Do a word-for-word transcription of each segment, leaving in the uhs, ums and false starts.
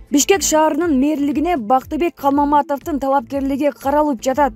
Бишкек шаарынын мэрлигине Бактыбек Калмаматовдун талапкерлиги каралып жатат.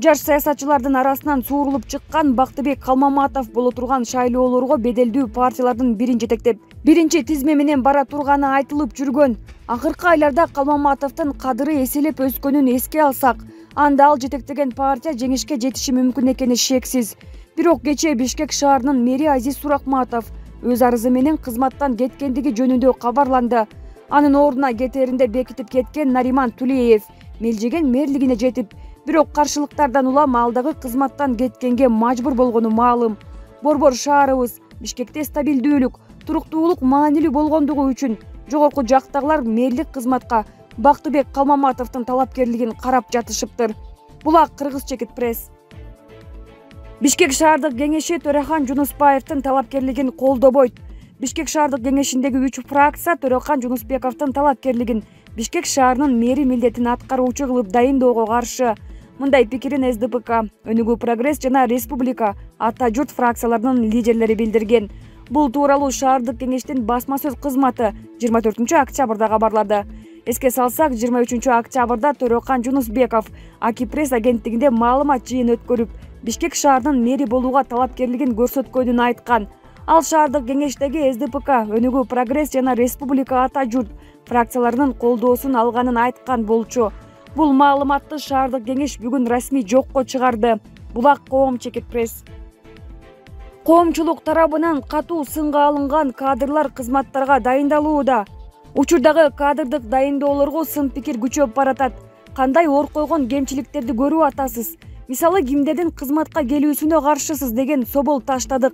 Жаш саясатчылардын арасынан суурулуп чыккан Бактыбек Калмаматов боло турган шайлоолорго беделдүү партиялардын бирин жетектеп, биринчи тизме менен бара турганы айтылып жүргөн. Акыркы айларда Калмаматовдун кадыры эселеп өскөнүн эске алсак, анда ал жетектеген партия жеңишке жетиши мүмкүн экени шексиз. Бирок кечээ Бишкек шаарынын мэри Азиз Суракматов өз арызы менен кызматтан кеткендиги жөнүндө кабарланды. Анын ордуна кетээринде бекитип кеткен Нариман Тулеев мелжеген мэрлигине жетип, бирок каршылыктардан улам ал дагы кызматтан кеткенге мажбур болгону маалым. Борбор шаарыбыз Бишкекте стабилдүүлүк, туруктуулук маанилүү болгондугу үчүн жогорку жактагылар мэрлик кызматка Бактыбек Калмаматовдун талапкерлигин карап жатышыптыр. Булак Кыргыз Чекит пресс. Бишкек шаардык кеңеши Төрахан Жунуспаевдин талапкерлигин колдобойт. Бишкек шаардык кеңешиндеги үч фракция Төрахан Жунуспековдун талапкерлигин Бишкек шаарынын мэри милдетин аткаруучу кылып дайындоого каршы. Мындай пикирин эс дэ пэ ка, Өнүгүү Прогресс жана Республика Ата журт фракцияларынын лидерлери билдирген. Бул тууралуу шаардык кеңештин басма сөз кызматы жыйырма төртүнчү октябрда кабарлады. Эске салсак, жыйырма үчүнчү октябрда Төрахан Жунусбеков Аки пресс агенттигинде маалымат жыйын өткөрүп, Бишкек шаарынын мэри болууга талапкерлигин көрсөткөнүн айткан. Ал шаардык кеңештеги эс дэ пэ ка, Өнүгүү Прогресс жана Республика Ата журт фракцияларынын колдоосун алганын айткан болчу. Бул маалыматты шаардык кеңеш бүгүн расмий жокко чыгарды. Булак Коом Чекит пресс. Коомчулук тарабынан катуу сынга алынган кадрлар кызматтарга дайындалууда. Учурдагы кадрдык дайындоолорго сын пикир күчөп баратат. Кандай ор койгон кемчиликтерди көрүп атасыз? Мисалы, кимдердин кызматка келүүсүнө каршысыз деген собол таштадык.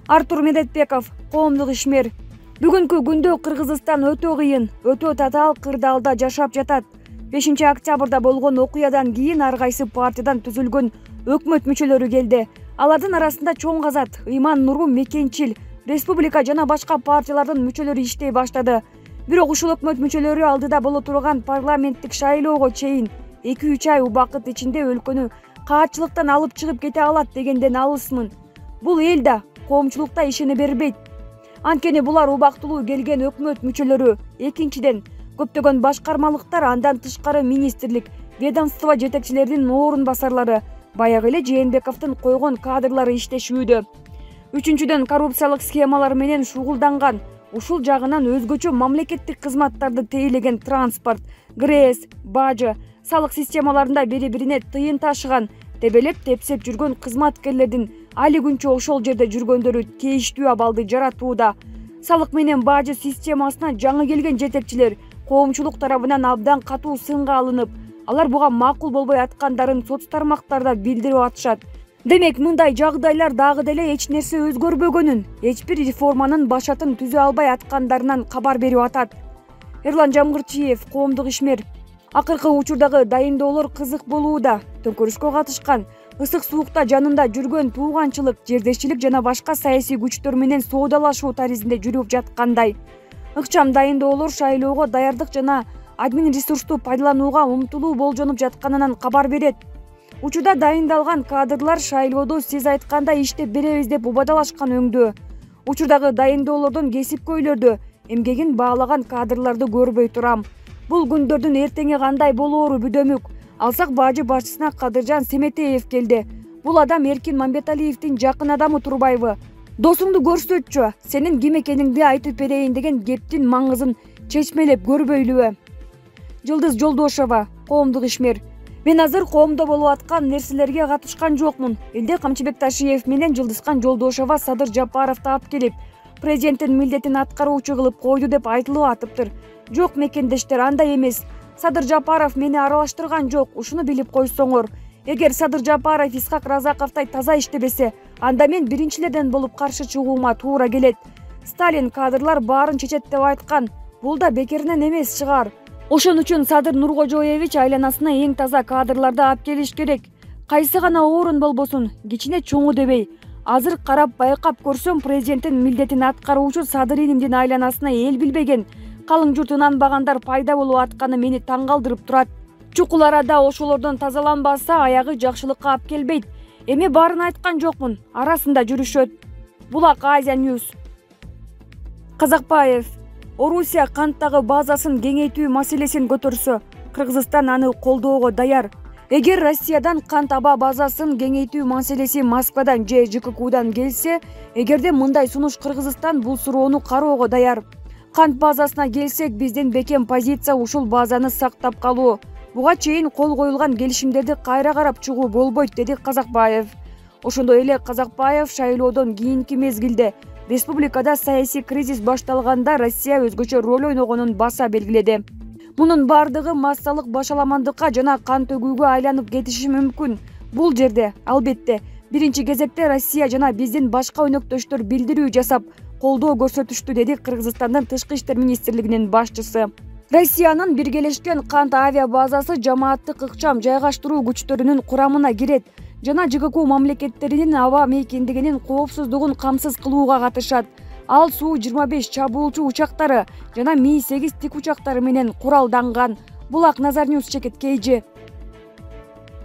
Артур Медетбеков, коомдук ишмер. Бүгүнкү күндө Кыргызстан өтө кыйын, өтө татаал кырдаалда жашап жатат. бешинчи октябрда болгон окуядан кийин ар кайсы партиядан түзүлгөн өкмөт мүчөлөрү келди. Алардын арасында Чоң Казат, Ыйман Нуру, Мекенчил, Республика жана башка партиялардын мүчөлөрү иштей баштады. Бирок ушул өкмөт мүчөлөрү алдыда боло турган парламенттик шайлоого чейин эки үч ай убакыт ичинде өлкөнү каатчылыктан алып чыгып кете алат дегенден алысмын. Бул эл да, коомчулукта ишене бербейт. Анткени булар убактылуу келген өкмөт мүчөлөрү. Экинчиден, көптөгөн башкармалыктар, андан тышкары министрлик, ведомство жетекчилеринин орун басарлары, баягы эле Жээнбековдун койгон кадрлары иштешүүдө. Үчүнчүдөн, коррупциялык схемалар менен шугулданган, ушул жагынан өзгөчө мамлекеттик кызматтарды тейлеген транспорт, ГРЭС, бажы, салык системаларында бири-бирине тыйын ташыган, тебелеп-тепсеп жүргөн кызматкерлердин али күнчө ошол жерде жүргөндөрү тийиштүү абалды жаратууда. Салык менен бажы системасына жаңы келген жетекчилер коомчулук тарабынан абдан катуу сынга алынып, алар буга макул болбой аткандарын соц тармактарда билдирип атышат. Демек, мындай жагдайлар дагы деле эч нерсе өзгөрбөгөнүн, эч бир реформанын башатын түзө албай аткандарынан кабар берип атат. Эрлан Жамгырчиев, коомдук ишмер. Акыркы учурдагы дайындоолор кызык болууда. Төңкөрүшкө катышкан, ысык суукта жанында жүргөн тууганчылык, жердешчилик жана башка саясий күчтөр менен соодалашуу таризинде жүрүп жаткандай. Ыкчам дайындоолор шайлоого даярдык жана админ ресурсту пайдаланууга умтулуу болжонуп жатканынан кабар берет. Учурда дайындалган кадрлар шайлоодо сиз айткандай иштеп беребиз деп убадалашкан өңдөө. Учурдагы дайындоолордон кесипкөйлөрдү, эмгегин баалаган кадрларды көрбөй турам. Бул күндөрдүн эртеңи кандай болоору бүдөмүк. Алсак, бажы башчысына Кадыржан Семетеев келди. Бул адам Эркин Мамбеталиевдин жакын адамы турбайбы? Досуңду көрсөтчү, сенин ким экениңди айтып берейин деген кептин маңызын чечмелеп көрбөйлүбү? Жылдыз Жолдошова, коомдук ишмер. Мен азыр коомдо болуп аткан нерселерге катышкан жокмун. Элде Камчыбек Ташиев менен Жылдызкан Жолдошова Садыр Жапаровду алып келип, президенттин милдетин аткаруучу кылып койду деп айтылып атыптыр. Жок мекендештер, андай эмес. Садыр Жапаров мени аралаштырган жок, ушуну билип койсоңор. Эгер Садыр Жапаров Исхак Разаковдай таза иштебесе, анда мен биринчилерден болуп каршы чыгуума туура келет. Сталин кадрлар баарын чечет деп айткан. Бул да бекеринен эмес чыгар. Ошон үчүн Садыр Нуркожоевич айланасына эң таза кадрларды алып келиш керек. Кайсы гана орун болбосун, кичине чоңу дебей. Азыр карап байкап көрсөм, президенттин милдетин аткаруучу Садыр инимдин айланасына эл билбеген, калың журт ынанбагандар пайда болуп атканы мени таң калтырып турат. Чукул арада ошолордон тазаланбаса, аягы жакшылыкка алып келбейт. Эми баарын айткан жокмун, арасында жүрүшөт. Булак Азия Ньюс. Казакбаев. Орусия канттагы базасын кеңейтүү маселесин көтөрсө, Кыргызстан аны колдоого даяр. Эгер Россиядан кант аба базасын кеңейтүү маселеси Москвадан же ЖККудан келсе, эгерде мындай сунуш Кыргызстан бул суроону кароого даяр. Кант базасына келсек, биздин бекем позиция ушул базаны сактап калуу. Буга чейин кол коюлган келишимдерди кайра карап чыгуу болбойт, деди Казакбаев. Ошондой эле Казакбаев шайлоодон кийинки мезгилде республикада саясий кризис башталганда Россия өзгөчө роль ойногонун баса белгиледи. Мунун бардыгы массалык башаламандыкка жана кан төгүүгө айланып кетиши мүмкүн. Бул жерде, албетте, биринчи кезекте Россия жана биздин башка өнөктөштөр билдирүү жасап, колдоо көрсөтүштү, деди Кыргызстандын тышкы иштер министрлигинин башчысы. Россиянын биргелешкен кант авиа базасы жамааттык ыкчам жайгаштыруу күчтөрүнүн курамына кирет жана ЖКК мамлекеттеринин аба мейкиндигинин коопсуздугун камсыз кылууга катышат. Ал Су жыйырма беш чабуулчу учактары жана Ми сегиз тик учактары менен куралданган. Булак Назарньюс чекиткейжи.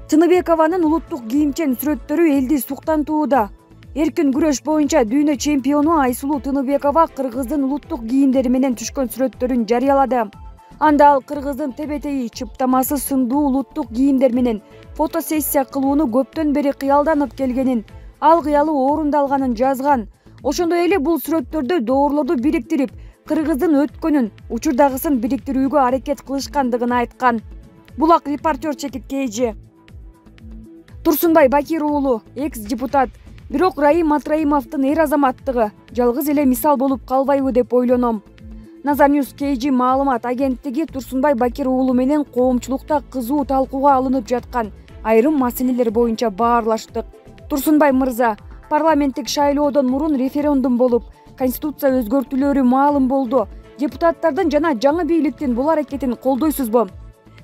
Тыныбекованын улуттук кийимчен сүрөттөрү элди суктантууда. Эркин күрөш боюнча дүйнө чемпиону Айсулуу Тыныбекова кыргыздын улуттук кийимдери менен түшкөн сүрөттөрүн жарыялады. Анда ал кыргыздын тебетейи чыптамасы сындуу улуттук кийимдер менен фотосессия кылууну көптөн бери кыялданып келгенин, ал кыялы орундалганын жазган. Ошондой эле бул сүрөттөрдө доорлорду бириктирип, кыргыздын өткөнүн, учурдагысын бириктирүүгө аракет кылышкандыгын айткан. Булак репортер чекиткейжи. Турсунбай Бакир уулу, экс-депутат. Бирок Раим Атраимовдун эр азаматтыгы жалгыз эле мисал болуп калбайбы деп ойлоном. Назарньюс Кейжи маалымат агенттиги Турсунбай Бакир уулу менен коомчулукта кызуу талкууга алынып жаткан айрым маселелер боюнча баарлаштык. Турсунбай мырза, парламенттик шайлоодон мурун референдум болуп, конституция өзгөртүүлөрү маалым болду. Депутаттардын жана жаңы бийликтин бул аракетин колдойсузбу?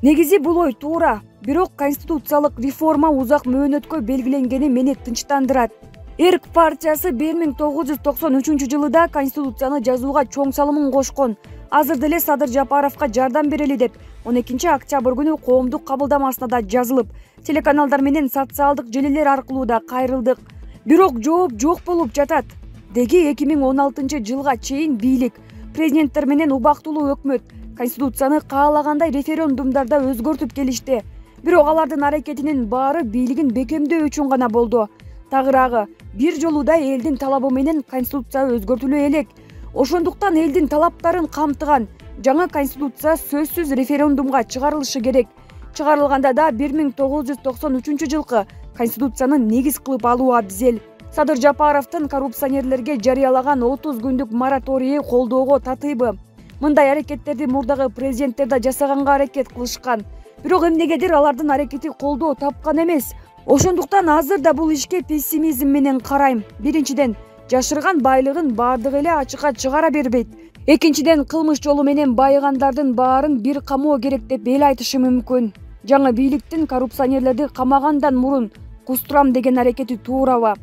Негизи бул ой туура, бирок конституциялык реформа узак мөөнөткө белгиленгени мени тынчтандырат. Эрк партиясы бир миң тогуз жүз токсон үчүнчү жылыда конституцияны жазууга чоң салымын кошкон. Азыр деле Садыр Жапаровго жардам берели деп он экинчи октябрь күнү коомдук кабылдамасына да жазылып, телеканалдар менен социалдык желилер аркылуу да кайрылдык. Бирок жооп жок болуп жатат. Деги эки миң он алтынчы жылга чейин бийлик, президенттер менен убактылуу өкмөт конституцияны каалагандай референдумдарда өзгөртүп келишти. Бирок алардын аракетинин баары бийлигин бекемдөө үчүн гана болду. Тагыраагы, бир жолуда элдин талабы менен конституция өзгөртүлө элек. Ошондуктан элдин талаптарын камтыган жаңы конституция сөзсүз референдумга чыгарылышы керек. Чыгарылганда да бир миң тогуз жүз токсон үчүнчү жылкы конституцияны негиз кылып алуу абзел. Садыр Жапаровдун коррупционерлерге жарыялаган отуз күндүк мораторийи колдоого татыйбы? Мындай аракеттерди мурдагы президенттер да жасаганга аракет кылышкан. Бирок эмнегедир алардын аракети колдоо тапкан эмес. Ошондуктан азыр да бул ишке пессимизм менен карайм. Биринчиден, жашырган байлыгын бардыгы эле ачыкка чыгара бербейт. Экинчиден, кылмыш жолу менен байыгандардын баарын бир камоо керек деп эл айтышы мүмкүн. Жаңы бийликтин коррупционерлерди камагандан мурун кустурам деген аракети туурабы?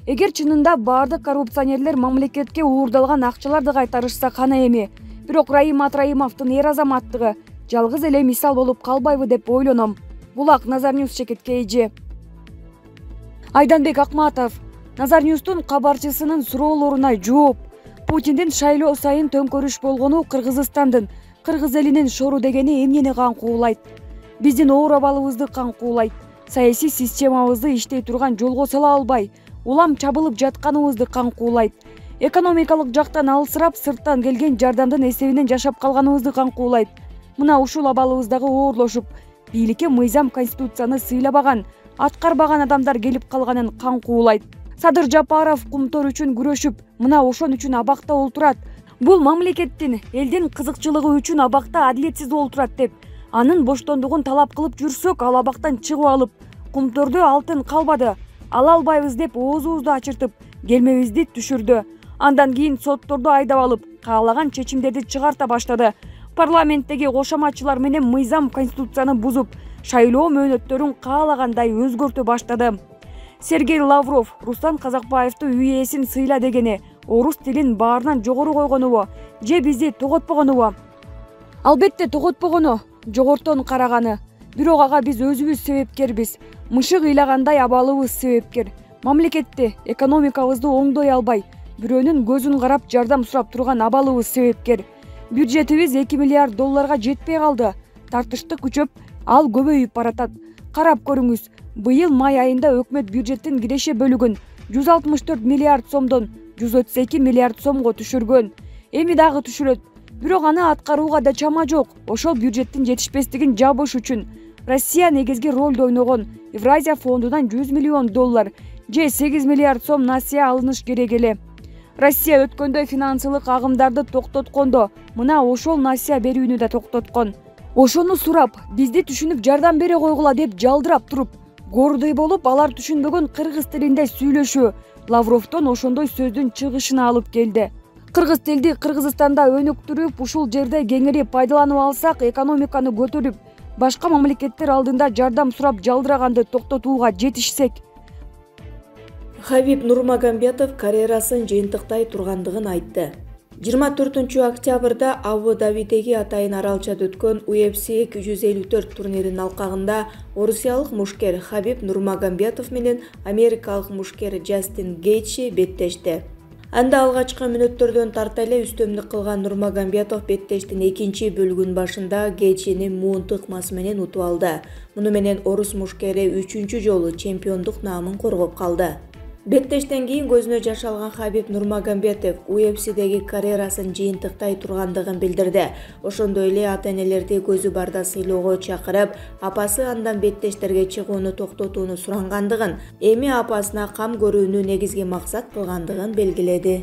Эгер чынында бардык коррупционерлер мамлекетке уурдалган акчаларды кайтарышса кана эми. Бирок Раим Атраимовдун эр азаматтыгы жалгыз эле мисал болуп калбайбы деп ойлоном. Булак Назарньюс чекиткейжи. Айданбек Акматов, Назарньюстун кабарчысынын суроолоруна жооп. Путиндин шайлоо сайын төңкөрүш болгону Кыргызстандын, кыргыз элинин шору дегени эмнени каңкуулайт? Биздин оор абалыбызды каңкуулайт. Саясий системабызды иштей турган жолго сала албай, улам чабылып жатканыбызды каңкуулайт. Экономикалык жактан алысырап, сырттан келген жардамдын эсебинен жашап калганыбызды каңкуулайт. Мына ушул абалыбыздагы оорлошуп, бийликке мыйзам конституцияны сыйлабаган, аткарбаган адамдар келип калганын каңкуулайт. Садыр Жапаров кумтор үчүн күрөшүп, мына ошон үчүн абакта олтурат. Бул мамлекеттин, элдин кызыкчылыгы үчүн абакта адилетсиз олтурат деп, анын боштондугун талап кылып жүрсөк, ал абактан чыгып алып, кумтордо алтын калбады, ала албайбыз деп оозубузду ачыртып, келмебизди түшүрдү. Андан кийин сотторду айдап алып, каалаган чечимдерди чыгарта баштады. Парламенттеги кошоматчылар менен мыйзам конституцияны бузуп, шайлоо мөөнөттөрүн каалагандай өзгөртө баштады. Сергей Лавров Руслан Казакбаевди үй ээсин сыйла дегени орус тилин баарынан жогору койгонубу же бизди тоготпогонубу? Албетте тоготпогону, жогортон караганы. Бирок ага биз өзүбүз себепкербиз. Мышык ыйлагандай абалыбыз себепкер. Мамлекетти, экономикабызды оңдой албай, бирөөнүн көзүн карап жардам сурап турган абалыбыз себепкер. Бюджетибиз эки миллиард долларга жетпей калды. Тартыштык күчөп, ал көбөйүп баратат. Карап көрүңүз, быйыл май айында өкмөт бюджеттин киреше бөлүгүн жүз алтымыш төрт миллиард сомдон жүз отуз эки миллиард сомго түшүргөн. Эми дагы түшүрөт. Бирок аны аткарууга да чама жок. Ошол бюджеттин жетишпестигин жабыш үчүн Россия негизги ролду ойногон Евразия фондунан жүз миллион доллар же сегиз миллиард сом насыя алыныш керек эле. Россия өткөндө финансылык агымдарды токтоткондо мына ошол насыя берүүнү да токтоткон. Ошону сурап, бизди түшүнүп жардам бере койгула деп жалдырап туруп, гордый болуп, алар түшүнбөгөн кыргыз тилинде сүйлөшүү Лавровдон ошондой сөздүн чыгышына алып келди. Кыргыз тилди Кыргызстанда өнүктүрүп, ушул жерде кеңири пайдаланып алсак, экономиканы көтөрүп, башка мамлекеттер алдында жардам сурап жалдыраганды токтотууга жетишсек. Хабиб Нурмагомедов карьерасын жыйынтыктай тургандыгын айтты. жыйырма төртүнчү октябрда Абу-Дабидеги атайын аралчада өткөн У Эф Си эки жүз элүү төрт турниринин алкагында орусиялык мушкер Хабиб Нурмагомедов менен америкалык мушкер Джастин Гейтчи беттешти. Анда алгачкы мүнөттөрдөн тарта эле үстөмдүк кылган Нурмагомедов беттештин экинчи бөлүгүнүн башында Гейтчини муун тыкмасы менен утуп алды. Муну менен орус мушкери үчүнчү жолу чемпиондук наамын коргоп калды. Беттештен кийин көзүнө жаш алган Хабиб Нурмагомедов У Эф Сидеги карьерасын жыйынтыктай тургандыгын билдирди. Ошондой эле ата-энелерди көзү барда сыйлоого чакырып, апасы андан беттештерге чыгууну токтотууну сурангандыгын, эми апасына кам көрүүнү негизги максат кылгандыгын белгиледи.